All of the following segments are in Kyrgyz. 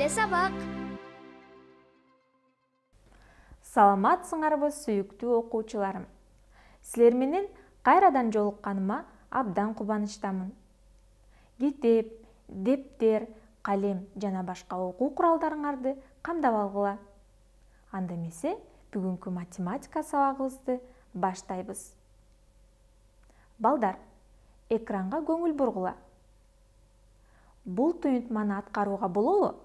Келе сабак. Саламатсыңарбы сүйүктүү окуучуларым. Силер менен кайрадан жолукканыма абдан кубанычтамын. Китеп, дептер, калем жана башка окуу куралдарыңарды камдап алгыла. Анда эмесе бүгүнкү математика сабагыбызды баштайбыз. Балдар, экранга көңүл бургула. Бул туюнтманы аткарууга болобу?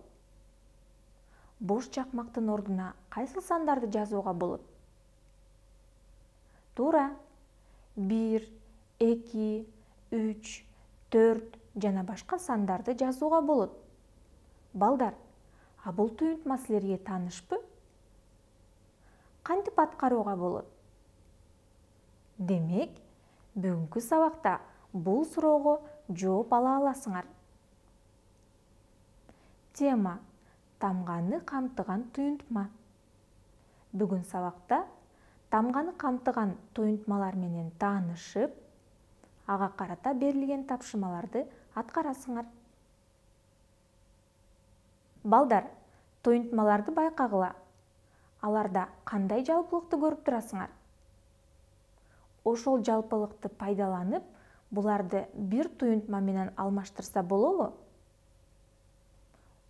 Бош чакмактын ордуна кайсыл сандарды жазууга болот? Туура. 1, 2, 3, 4 жана башка сандарды жазууга болот. Балдар, бул туюнтма силерге таанышпы? Кантип аткарууга болот? Демек, бүгүнкү сабакта бул суроого жооп ала аласыңар. Тема: тамганы камтыган туюнтма. Бүгүн сабакта тамганы камтыган туюнтмалар менен таанышып, ага карата берилген тапшырмаларды аткарасыңар. Балдар, туюнтмаларды байкагыла. Аларда кандай жалпылыкты көрүп турасыңар? Ошол жалпылыкты пайдаланып, буларды бир туюнтма менен алмаштырса болобу?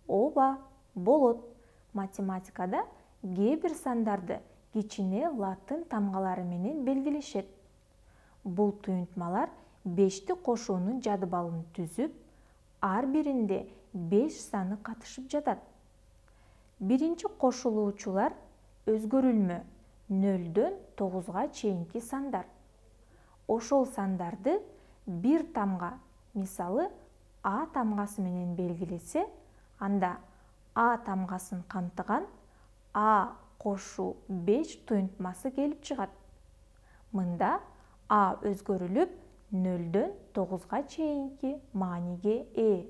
Ооба, болот. Математикада кээ бир сандарды кичине латын тамгалары менен белгилешет. Бул туюнтмалар 5ти кошуунун жадыбалын түзүп, ар биринде 5 саны катышып жатат. Биринчи кошулуучулар өзгөрүлмө 0-дөн 9га чейинки сандар. Ошол сандарды бир тамга, мисалы А тамгасы менен белгилесе, анда А тамгасын камтыган А кошуу 5 туюнтмасы келип чыгат. Мында А өзгөрүлүп 0-дөн 9га чейинки мааниге ээ.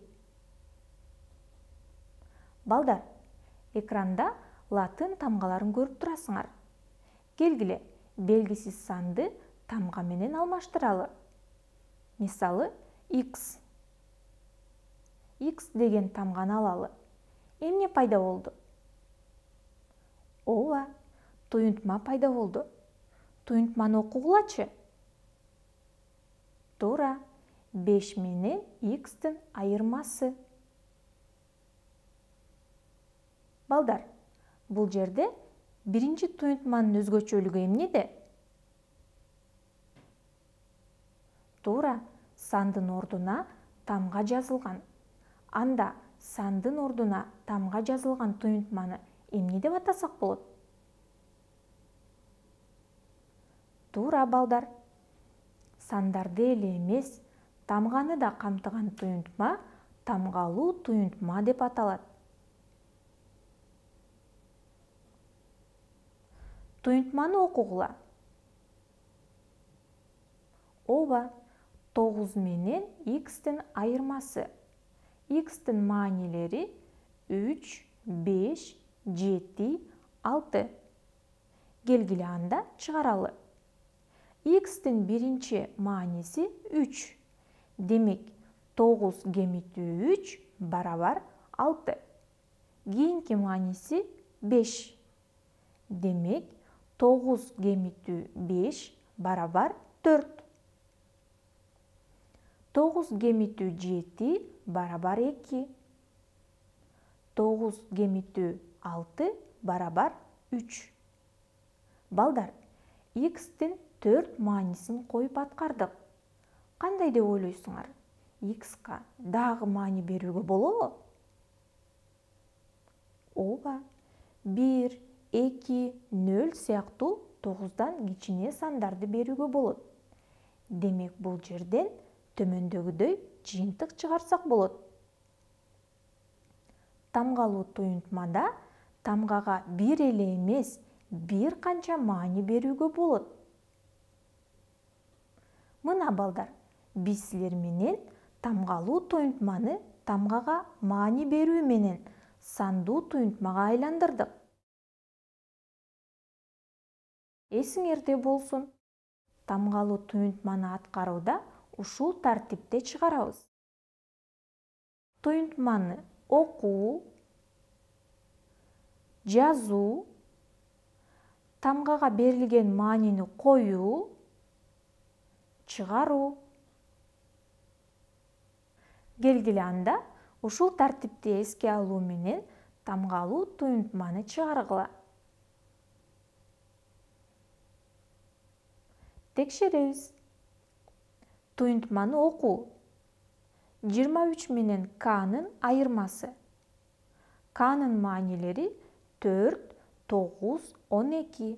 Балдар, экранда латын тамгаларын көрүп турасыңар. Келгиле, белгисиз санды тамга менен алмаштыралы. Мисалы, X. X деген тамганы алалы. Эмне пайда болду? Ооба, туюнтма пайда болду. Туюнтманы окугулачы. Туура, 5 менен X'тин айырмасы. Балдар, бул жерде биринчи туюнтманын өзгөчөлүгү эмнеде? Туура, сандын ордуна тамга жазылган. Анда сандын ордуна тамга жазылган туюнтманы эмне деп атасак болот? Туура, балдар. Сандарды эле эмес, тамганы да камтыган туюнтма тамгалуу туюнтма деп аталат. Туюнтманы окугула. Ооба, 9 менен X'тин айырмасы. X'тин маанилери 3, 5, 7, 6. Келгиле анда чыгаралы. X'тин биринчи мааниси 3. Демек, 9 кемитүү 3 барабар 6. Кийинки мааниси 5. Демек, 9 кемитүү 5 барабар 4. 9 кемитүү 7 барабар 2. 9 кемитүү 6 барабар 3. Балдар, X'тин 4 маанисин коюп аткардык. Кандай деп ойлойсуңар? X'ка дагы маани берүүгө болобу? Ооба, 1, 2, 0 сыяктуу 9дан кичине сандарды берүүгө болот. Демек, бул жерден төмөндөгүдөй жыйынтык чыгарсак болот. Тамгалуу туюнтмада тамгага бир эле эмес, бир канча маани берүүгө болот. Мына балдар, биз силер менен тамгалуу туюнтманы тамгага маани берүү менен сандуу туюнтмага айландырдык. Эсиңерде болсун, тамгалуу туюнтманы аткарууда ушул тартипте чыгарабыз. Туюнтманы окуу, жазуу, тамгага берилген маанини коюу, чыгаруу. Келгиле анда ушул тартипти эске алуу менен тамгалуу туюнтманы чыгаргыла. Текшеребиз. Туюнтманы окуу. 23 менен К'нын айырмасы. К'нын маанилери 4, 9, 12.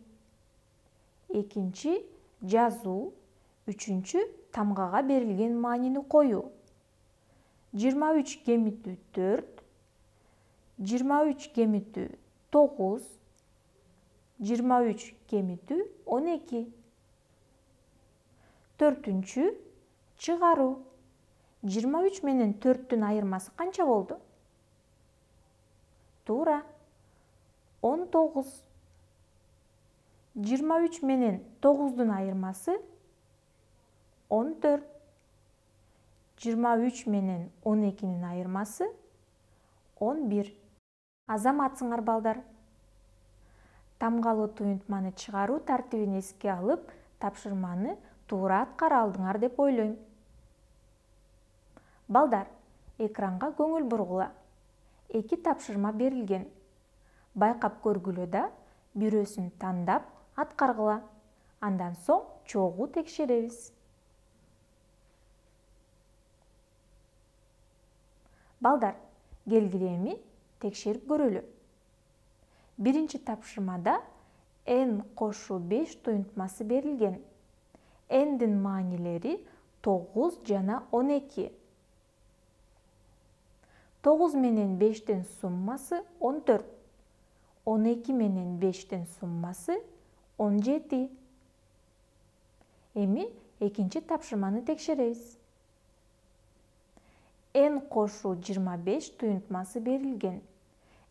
Экинчи жазуу, үчүнчү тамгага берилген маанини коюу. 23 кемитүү 4, 23 кемитүү 9, 23 кемитүү 12. Төртүнчү чыгаруу. 23 менен 4-түн айырмасы канча болду? Туура, 19. 23 менен 9-дун айырмасы 14. 23 менен 12-нин айырмасы 11. Азаматсыңар балдар. Тамгалуу туюнтманы чыгаруу тартибин эске алып, тапшырманы туура аткара алдыңар деп ойлойм. Балдар, экранга көңүл бургула. 2 тапшырма берилген. Байкап көргүлө да, бирөөсүн тандап аткаргыла. Андан соң чогуу текшеребиз. Балдар, келгиле эми текшерип көрөлү. Биринчи тапшырмада n кошу 5 туюнтмасы берилген. N'дин маанилери 9 жана 12. 9 менен 5-тин суммасы 14. 12 менен 5-тин суммасы 17. Эми экинчи тапшырманы текшеребиз. N кошу 25 туюнтмасы берилген.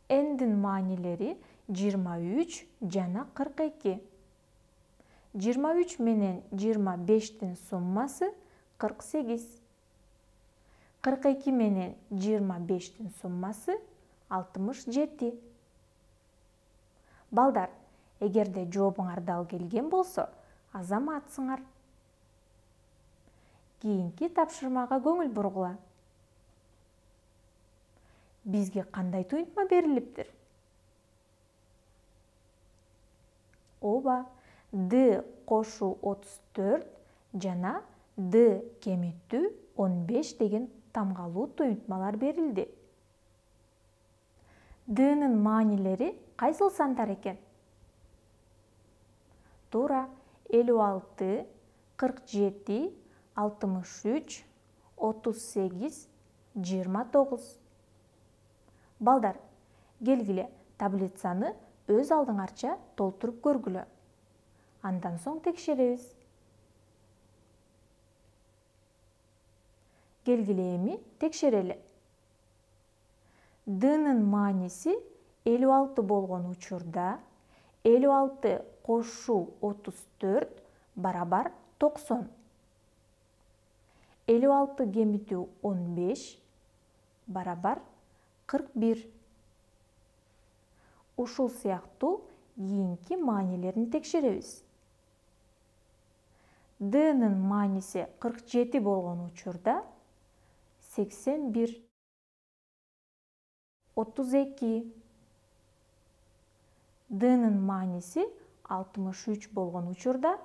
N'дин маанилери 23 жана 42. 23 менен 25-тин суммасы 48. 42 менен 25-тин суммасы 67. Балдар, эгерде жообуңар дал келген болсо, азаматсыңар. Кийинки тапшырмага көңүл бургула. Бизге кандай туюнтма берилиптир? Ооба, D кошу 34 жана D кемиттүү 15 деген тамгалуу туюнтмалар берилди. D'нын маанилери кайсыл сандар экен? Туура, 56, 47, 63, 38, 29. Балдар, келгиле таблицаны өз алдыңарча толтуруп көргүлө. Андан соң текшеребиз. Келгиле эми текшерели. D'нын мааниси 56 болгон учурда 56 кошу 34 барабар 90. 56 кемитүү 15 барабар 41. Ушул сыяктуу кийинки маанилерин текшеребиз. D'нын мааниси 47 болгон учурда 81, 32. D'нын мааниси 63 болгон учурда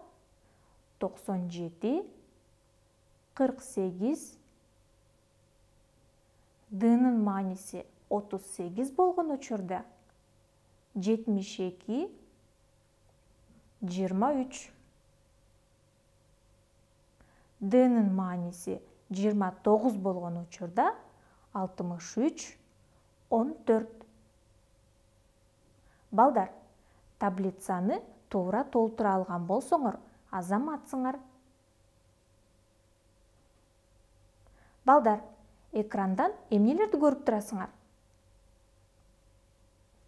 97, 48. D'нын мааниси 38 болгон учурда 72, 23. D'нын мааниси 29 болгон учурда 63, 14. Балдар, таблицаны туура толтура алган болсоңор, азаматсыңар. Балдар, экрандан эмнелерди көрүп турасыңар?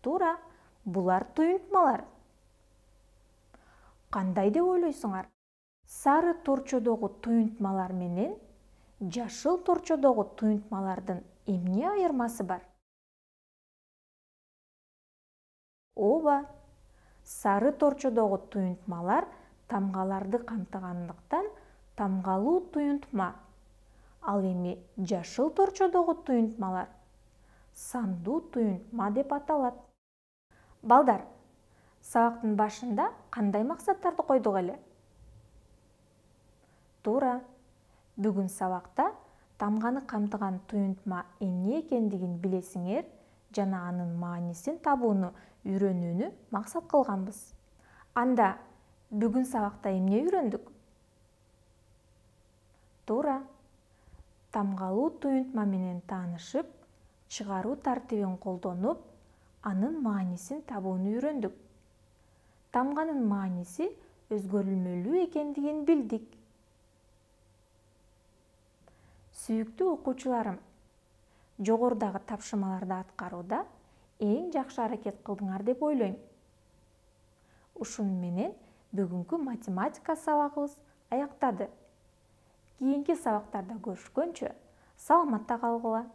Туура, булар туюнтмалар. Кандай деп ойлойсуңар? Сары торчодогу туюнтмалар менен жашыл торчодогу туюнтмалардын эмне айырмасы бар? Ооба, сары торчодогу туюнтмалар тамгаларды камтыгандыктан тамгалуу туюнтма. Ал эми жашыл торчодогу туюнтмалар сандуу туюнтма деп аталат. Балдар, сабактын башында кандай максаттарды койдук эле? Туура. Бүгүн сабакта тамганы камтыган туюнтма эмне экендигин билесиңер жана анын маанисин табууну үйрөнүүнү максат кылганбыз. Анда бүгүн сабакта эмне үйрөндүк? Туура. Тамгалуу туюнтма менен таанышып, чыгаруу тартибин колдонуп, анын маанисин табууну үйрөндүк. Тамганын мааниси өзгөрүлмөлүү экендигин билдик. Сүйүктүү окуучуларым, жогорудагы тапшырмаларды аткарууда эң жакшы аракет кылдыңар деп ойлойм. Ушуну менен бүгүнкү математика сабагыбыз аяктады. Кийинки сабактарда көрүшкөнчө саламатта калгыла.